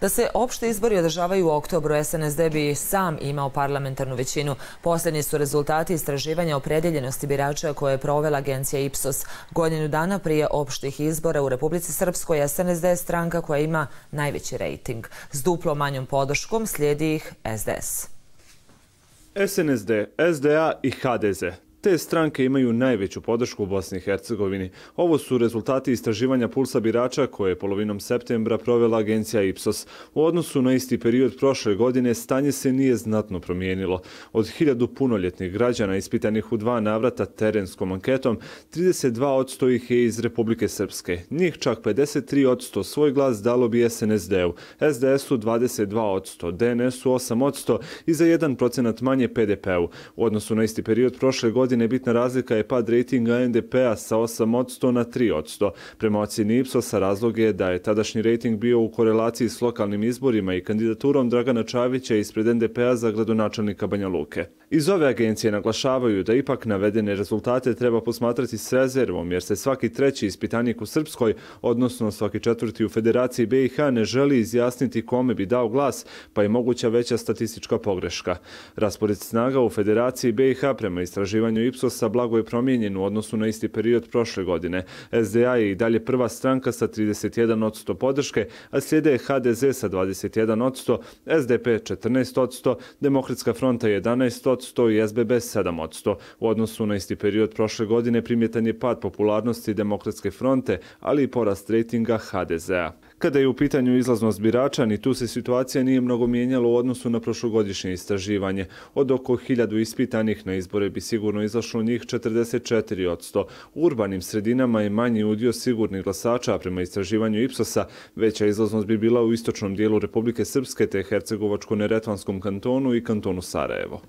Da se opšti izbori održavaju u oktobru, SNSD bi sam imao parlamentarnu većinu. Posljednji su rezultati istraživanja opredjeljenosti birača koje je provela agencija Ipsos. Godinu dana prije opštih izbora u Republici Srpskoj, SNSD je stranka koja ima najveći rejting. S duplo manjom podrškom slijedi ih SDS. SNSD, SDA i HDZ. Te stranke imaju najveću podršku u Bosni i Hercegovini. Ovo su rezultati istraživanja pulsa birača koje je polovinom septembra provela agencija Ipsos. U odnosu na isti period prošle godine stanje se nije znatno promijenilo. Od 1000 punoljetnih građana ispitanih u 2 navrata terenskom anketom, 32% ih je iz Republike Srpske. Njih čak 53% svoj glas dalo bi SNSD-u, SDS-u 22%, DNS-u 8% i za 1% manje PDP-u. U odnosu na isti period prošle godine bitna razlika je pad rejtinga NDP-a sa 8% na 3%. Prema ocjeni Ipsosa razlog je da je tadašnji rejting bio u korelaciji s lokalnim izborima i kandidaturom Dragana Čavića ispred NDP-a za gradonačelnika Banja Luke. Iz ove agencije naglašavaju da ipak navedene rezultate treba posmatrati s rezervom, jer se svaki treći ispitanik u Srpskoj, odnosno svaki četvrti u Federaciji BiH, ne želi izjasniti kome bi dao glas, pa je moguća veća statistička pogreška. Raspored snaga u Federaciji BiH prema istraživanju Ipsosa blago je promijenjen u odnosu na isti period prošle godine. SDA je i dalje prva stranka sa 31% podrške, a slijede HDZ sa 21%, SDP 14%, Demokratska fronta 11% i SBB 7%. U odnosu na isti period prošle godine primjetan je pad popularnosti Demokratske fronte, ali i porast rejtinga HDZ-a. Kada je u pitanju izlaznost birača, ni tu se situacija nije mnogo mijenjala u odnosu na prošlogodišnje istraživanje. Od oko 1000 ispitanih na izbore bi sigurno izašlo njih 44%. U urbanim sredinama je manji udio sigurnih glasača, a prema istraživanju Ipsosa veća izlaznost bi bila u istočnom dijelu Republike Srpske te Hercegovačko-Neretvanskom kantonu i kantonu Sarajevo.